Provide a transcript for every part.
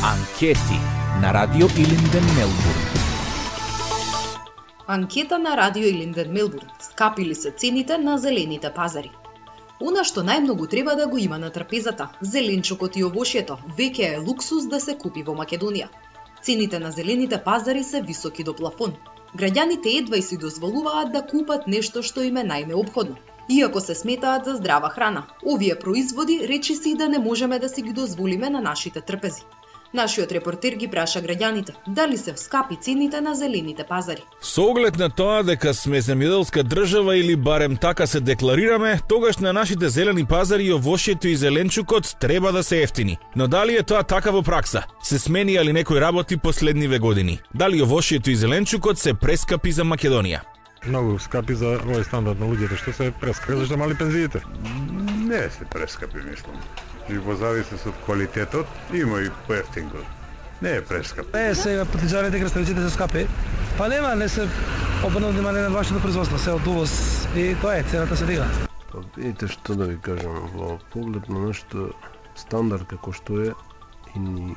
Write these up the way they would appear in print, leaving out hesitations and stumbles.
Анкети на Радио Илинден Мелбурн. Анкета на Радио Илинден Мелбурн. Скапили се цените на зелените пазари. Она што најмногу треба да го има на трапезата, зеленчукот и овошјето, веќе е луксус да се купи во Македонија. Цените на зелените пазари се високи до плафон. Граѓаните едва и си дозволуваат да купат нешто што им е најнеопходно. Иако се сметаат за здрава храна, овие производи речиси да не можеме да си ги дозволиме на нашите трпези. Нашиот репортер ги праша граѓаните дали се скапи цените на зелените пазари. Со оглед на тоа дека сме земјоделска држава или барем така се декларираме, тогаш на нашите зелени пазари овошјето и зеленчукот треба да се ефтини. Но дали е тоа така во пракса? Се сменија ли некои работи последниве години? Дали овошјето и зеленчукот се прескапи за Македонија? Многу скапи за овој стандард на луѓето што се прескапи, зашто мали пензиите? Не се прескапи, мислам. И во зависност од квалитетот, има и поевтин го. Не е прескап. Не, сега притежаваните краставиците се скапи. Па нема, не се обрнува внимание на вашето производство, се од увоз и тоа е, цената се дига. Па видите што да ви кажам, во поглед на нашето стандард како што е и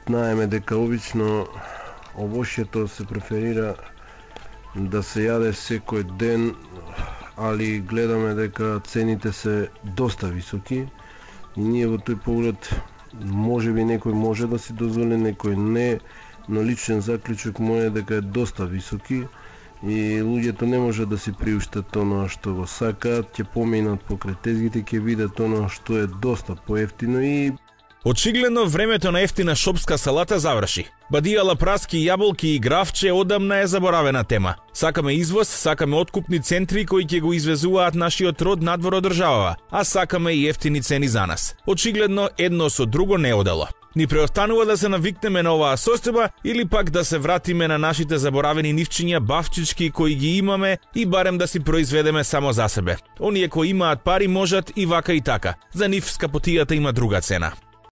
знаеме дека обично овошјето се преферира да се јаде секој ден, али гледаме дека цените се доста високи и ние во тој поглед можеби некој може да си дозволи, некој не, но личен заклучок мој е дека е доста високи и луѓето не може да си приуштат тоа што го сакаат, ќе поминат покрај тезгите, ќе видат тоа што е доста поевтино и очигледно времето на ефтина шопска салата заврши. Бадијала, праски, јаболки и гравче одамна е заборавена тема. Сакаме извоз, сакаме откупни центри кои ќе го извезуваат нашиот род надвор од државава, а сакаме и ефтини цени за нас. Очигледно едно со друго не одело. Ни преостанува да се навикнеме на оваа состојба или пак да се вратиме на нашите заборавени нивчиња бавчички кои ги имаме и барем да си произведеме само за себе. Оние кои имаат пари можат и вака и така. За нив скапотијата има друга цена.